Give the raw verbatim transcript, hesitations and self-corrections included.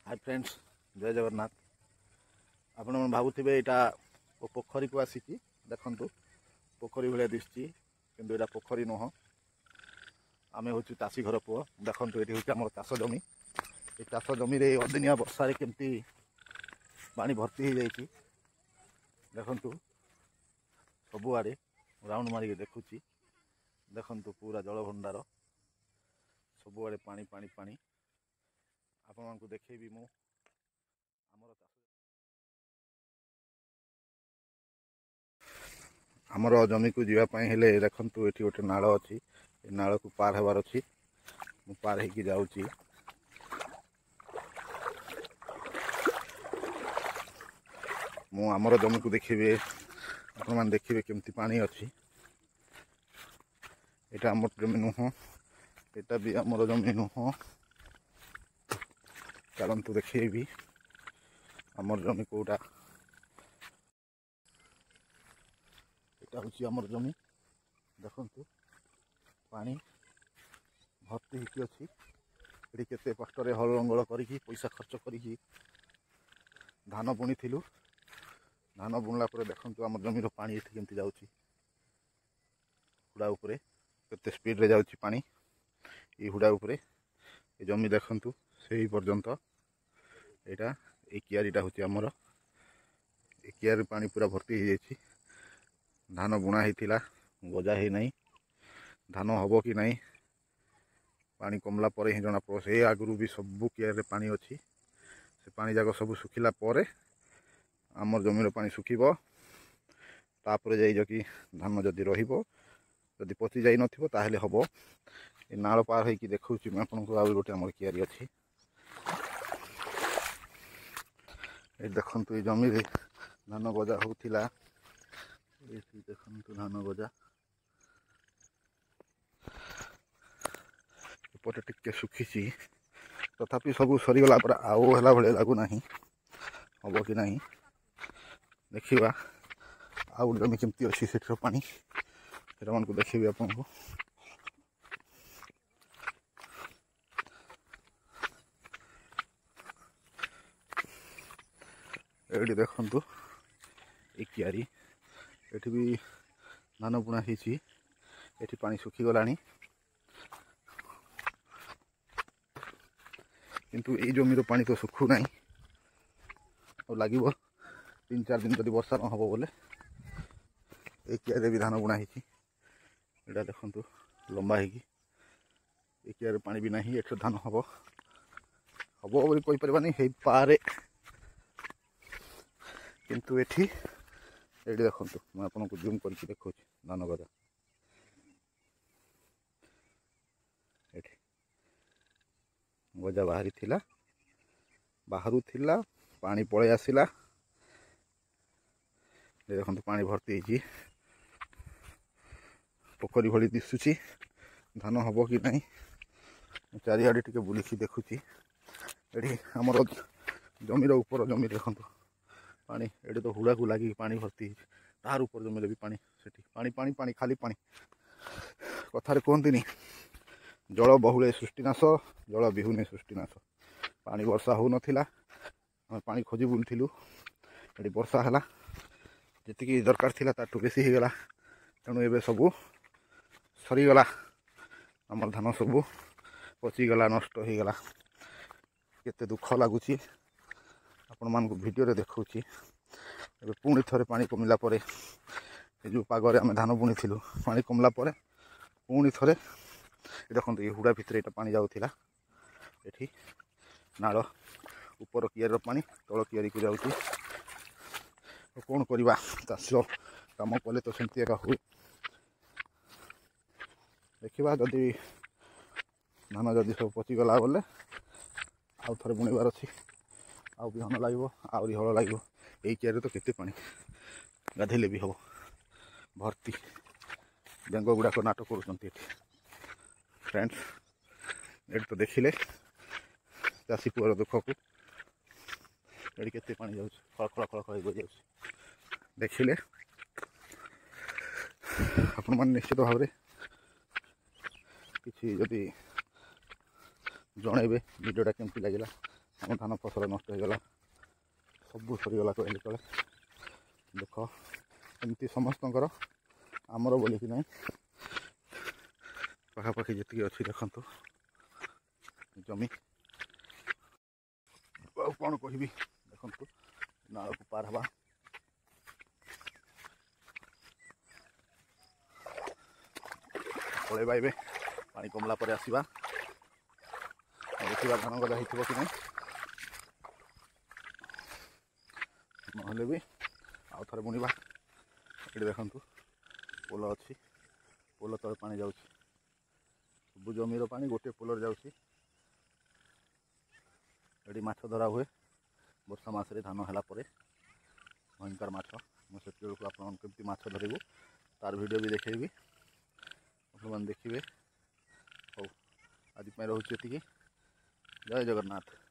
High friends, ଜୟ ଜଗନ୍ନାଥ। ଆପଣମାନେ ଭାବୁଥିବେ ଏଇଟା ପୋଖରୀକୁ ଆସିଛି। ଦେଖନ୍ତୁ, ପୋଖରୀ ଭଳିଆ ଦିଶୁଛି, କିନ୍ତୁ ଏଇଟା ପୋଖରୀ ନୁହଁ। ଆମେ ହେଉଛୁ ଚାଷୀ ଘର ପୁଅ। ଦେଖନ୍ତୁ, ଏଠି ହେଉଛି ଆମର ଚାଷ ଜମି। ଏ ଚାଷ ଜମିରେ ଅଦିନିଆ ବର୍ଷାରେ କେମିତି ପାଣି ଭର୍ତ୍ତି ହେଇଯାଇଛି ଦେଖନ୍ତୁ। ସବୁଆଡ଼େ ରାଉଣ୍ଡ ମାରିକି ଦେଖୁଛି। ଦେଖନ୍ତୁ, ପୁରା ଜଳଭଣ୍ଡାର, ସବୁଆଡ଼େ ପାଣି ପାଣି ପାଣି। ଆପଣମାନଙ୍କୁ ଦେଖେଇବି ମୁଁ ଆମର ଚାଷ, ଆମର ଜମିକୁ ଯିବା ପାଇଁ ହେଲେ। ଦେଖନ୍ତୁ, ଏଠି ଗୋଟେ ନାଳ ଅଛି। ଏ ନାଳକୁ ପାର ହେବାର ଅଛି। ମୁଁ ପାର ହେଇକି ଯାଉଛି। ମୁଁ ଆମର ଜମିକୁ ଦେଖିବେ, ଆପଣମାନେ ଦେଖିବେ କେମିତି ପାଣି ଅଛି। ଏଇଟା ଆମର ଜମି ନୁହଁ, ଏଇଟା ବି ଆମର ଜମି ନୁହଁ। ଚାଲନ୍ତୁ, ଦେଖେଇବି ଆମର ଜମି କେଉଁଟା। ଏଇଟା ହେଉଛି ଆମର ଜମି। ଦେଖନ୍ତୁ, ପାଣି ଭର୍ତ୍ତି ହେଇକି ଅଛି ଏଠି। କେତେ କଷ୍ଟରେ ହଳ ଲଙ୍ଗଳ କରିକି, ପଇସା ଖର୍ଚ୍ଚ କରିକି ଧାନ ବୁଣିଥିଲୁ। ଧାନ ବୁଣିଲା ପରେ ଦେଖନ୍ତୁ, ଆମ ଜମିର ପାଣି ଏଠି କେମିତି ଯାଉଛି। ହୁଡ଼ା ଉପରେ କେତେ ସ୍ପିଡ଼ରେ ଯାଉଛି ପାଣି ଏଇ ହୁଡ଼ା ଉପରେ। ଏ ଜମି ଦେଖନ୍ତୁ, ସେଇ ପର୍ଯ୍ୟନ୍ତ। ଏଇଟା ଏଇ କିଆରିଟା ହେଉଛି ଆମର। ଏ କିଆରି ପାଣି ପୁରା ଭର୍ତ୍ତି ହେଇଯାଇଛି। ଧାନ ବୁଣା ହେଇଥିଲା, ଗଜା ହେଇନାହିଁ। ଧାନ ହେବ କି ନାହିଁ, ପାଣି କମିଲା ପରେ ହିଁ ଜଣାପଡ଼ିବ। ସେ ଆଗରୁ ବି ସବୁ କିଆରିରେ ପାଣି ଅଛି। ସେ ପାଣି ଯାକ ସବୁ ଶୁଖିଲା ପରେ ଆମର ଜମିର ପାଣି ଶୁଖିବ, ତାପରେ ଯାଇ କି ଧାନ ଯଦି ରହିବ, ଯଦି ପଚି ଯାଇନଥିବ ତାହେଲେ ହେବ। ଏ ନାଳ ପାର ହେଇକି ଦେଖାଉଛି ମୁଁ ଆପଣଙ୍କୁ। ଆଉ ଗୋଟେ ଆମର କିଆରି ଅଛି। ଏ ଦେଖନ୍ତୁ, ଏଇ ଜମିରେ ଧାନ ଗଜା ହେଉଥିଲା। ଏଇଠି ଦେଖନ୍ତୁ ଧାନ ଗଜା। ଏପଟେ ଟିକେ ଶୁଖିଛି, ତଥାପି ସବୁ ସରିଗଲା ପରେ ଆଉ ହେଲା ଭଳିଆ ଲାଗୁନାହିଁ। ହେବ କି ନାହିଁ ଦେଖିବା। ଆଉ ଗୋଟେ ଜମି କେମିତି ଅଛି ସେଠିର ପାଣି, ସେଟାମାନଙ୍କୁ ଦେଖେଇବି ଆପଣଙ୍କୁ। ଏଇଠି ଦେଖନ୍ତୁ, ଏଇ କିଆରି, ଏଠି ବି ଧାନ ବୁଣା ହେଇଛି। ଏଠି ପାଣି ଶୁଖିଗଲାଣି, କିନ୍ତୁ ଏଇ ଜମିର ପାଣି ତ ଶୁଖୁନାହିଁ। ଆଉ ଲାଗିବ ତିନି ଚାରି ଦିନ ଯଦି ବର୍ଷା ନ ହେବ ବୋଲେ। ଏଇ କିଆରିରେ ବି ଧାନ ବୁଣା ହେଇଛି। ଏଇଟା ଦେଖନ୍ତୁ, ଲମ୍ବା ହେଇକି। ଏଇ କିଆରିରେ ପାଣି ବି ନାହିଁ। ଏଠି ଧାନ ହେବ ହେବ ବୋଲି କହିପାରିବାନି, ହେଇପାରେ। କିନ୍ତୁ ଏଠି, ଏଇଠି ଦେଖନ୍ତୁ, ମୁଁ ଆପଣଙ୍କୁ ଜୁମ୍ କରିକି ଦେଖାଉଛି ଧାନ ଗଜା। ଏଠି ଗଜା ବାହାରିଥିଲା, ବାହାରୁଥିଲା, ପାଣି ପଳେଇ ଆସିଲା। ଦେଖନ୍ତୁ, ପାଣି ଭର୍ତ୍ତି ହେଇଛି, ପୋଖରୀ ଭଳି ଦିଶୁଛି। ଧାନ ହେବ କି ନାହିଁ, ମୁଁ ଚାରିଆଡ଼େ ଟିକେ ବୁଲିକି ଦେଖୁଛି। ଏଠି ଆମର ଜମିର ଉପର ଜମି ଦେଖନ୍ତୁ ପାଣି। ଏଠି ତ ହୁଡ଼ାକୁ ଲାଗିକି ପାଣି ଭର୍ତ୍ତି ହେଇଛି। ତାର ଉପର ଜମିରେ ବି ପାଣି, ସେଠି ପାଣି ପାଣି ପାଣି, ଖାଲି ପାଣି। କଥାରେ କୁହନ୍ତିନି, ଜଳ ବହୁଳେ ସୃଷ୍ଟିନାଶ, ଜଳ ବିହୁନେ ସୃଷ୍ଟିନାଶ। ପାଣି ବର୍ଷା ହେଉନଥିଲା, ଆମେ ପାଣି ଖୋଜି ବୁଲୁଥିଲୁ। ଏଠି ବର୍ଷା ହେଲା, ଯେତିକି ଦରକାର ଥିଲା ତାଠୁ ବେଶୀ ହେଇଗଲା। ତେଣୁ ଏବେ ସବୁ ସରିଗଲା। ଆମର ଧାନ ସବୁ ପଚିଗଲା, ନଷ୍ଟ ହେଇଗଲା। କେତେ ଦୁଃଖ ଲାଗୁଛି, ଆପଣମାନଙ୍କୁ ଭିଡ଼ିଓରେ ଦେଖାଉଛି। ଏବେ ପୁଣି ଥରେ ପାଣି କମିଲା ପରେ, ଏ ଯେଉଁ ପାଗରେ ଆମେ ଧାନ ବୁଣିଥିଲୁ, ପାଣି କମିଲା ପରେ ପୁଣି ଥରେ ଦେଖନ୍ତୁ, ଏ ହୁଡ଼ା ଭିତରେ ଏଇଟା ପାଣି ଯାଉଥିଲା। ଏଠି ନାଳ ଉପର କିଆରିର ପାଣି ତଳ କିଆରିକୁ ଯାଉଛି। କ'ଣ କରିବା, ଚାଷ କାମ କଲେ ତ ସେମିତି ଏକା ହୁଏ। ଦେଖିବା, ଯଦି ଧାନ ଯଦି ସବୁ ପଚିଗଲା ବୋଲେ ଆଉ ଥରେ ବୁଣିବାର ଅଛି। ଆଉ ବିହନ ଲାଗିବ, ଆହୁରି ହଳ ଲାଗିବ। ଏଇ କିଆରିରେ ତ କେତେ ପାଣି, ଗାଧେଇଲେ ବି ହେବ, ଭର୍ତ୍ତି। ବେଙ୍ଗ ଗୁଡ଼ାକ ନାଟ କରୁଛନ୍ତି ଏଠି। ଫ୍ରେଣ୍ଡସ୍, ଏଠି ତ ଦେଖିଲେ ଚାଷୀ ପୁଅର ଦୁଃଖକୁ। ଏଠି କେତେ ପାଣି ଯାଉଛି, ଖଳ ଖଳ ଖଳ ଖଳ ହେଇ ଯାଉଛି। ଦେଖିଲେ ଆପଣମାନେ ନିଶ୍ଚିତ ଭାବରେ କିଛି ଯଦି ଜଣେଇବେ ଭିଡ଼ିଓଟା କେମିତି ଲାଗିଲା। ଆମ ଧାନ ଫସଲ ନଷ୍ଟ ହେଇଗଲା, ସବୁ ସରିଗଲା କହିଲେ ଚଳେ। ଦୁଃଖ ଏମିତି ସମସ୍ତଙ୍କର, ଆମର ବୋଲିକି ନାହିଁ। ପାଖାପାଖି ଯେତିକି ଅଛି ଦେଖନ୍ତୁ ଜମି, ଆଉ କ'ଣ କହିବି। ଦେଖନ୍ତୁ ନାଳକୁ ପାର ହେବା। ପଳେଇବା ଏବେ, ପାଣି କମିଲା ପରେ ଆସିବା, ଦେଖିବା ଧାନ ଗଜା ହେଇଥିବ କି ନାହିଁ। ନହେଲେ ବି ଆଉ ଥରେ ବୁଣିବା। ଏଠି ଦେଖନ୍ତୁ ପୋଲ ଅଛି, ପୋଲ ତଳେ ପାଣି ଯାଉଛି। ସବୁ ଜମିର ପାଣି ଗୋଟିଏ ପୋଲରେ ଯାଉଛି। ଏଠି ମାଛ ଧରା ହୁଏ ବର୍ଷା ମାସରେ, ଧାନ ହେଲା ପରେ ଭୟଙ୍କର ମାଛ। ମୁଁ ସେତିକି ବେଳକୁ ଆପଣମାନଙ୍କୁ କେମିତି ମାଛ ଧରିବୁ ତାର ଭିଡ଼ିଓ ବି ଦେଖେଇବି, ଆପଣମାନେ ଦେଖିବେ। ହଉ, ଆଜି ପାଇଁ ରହୁଛି ଏତିକି। ଜୟ ଜଗନ୍ନାଥ।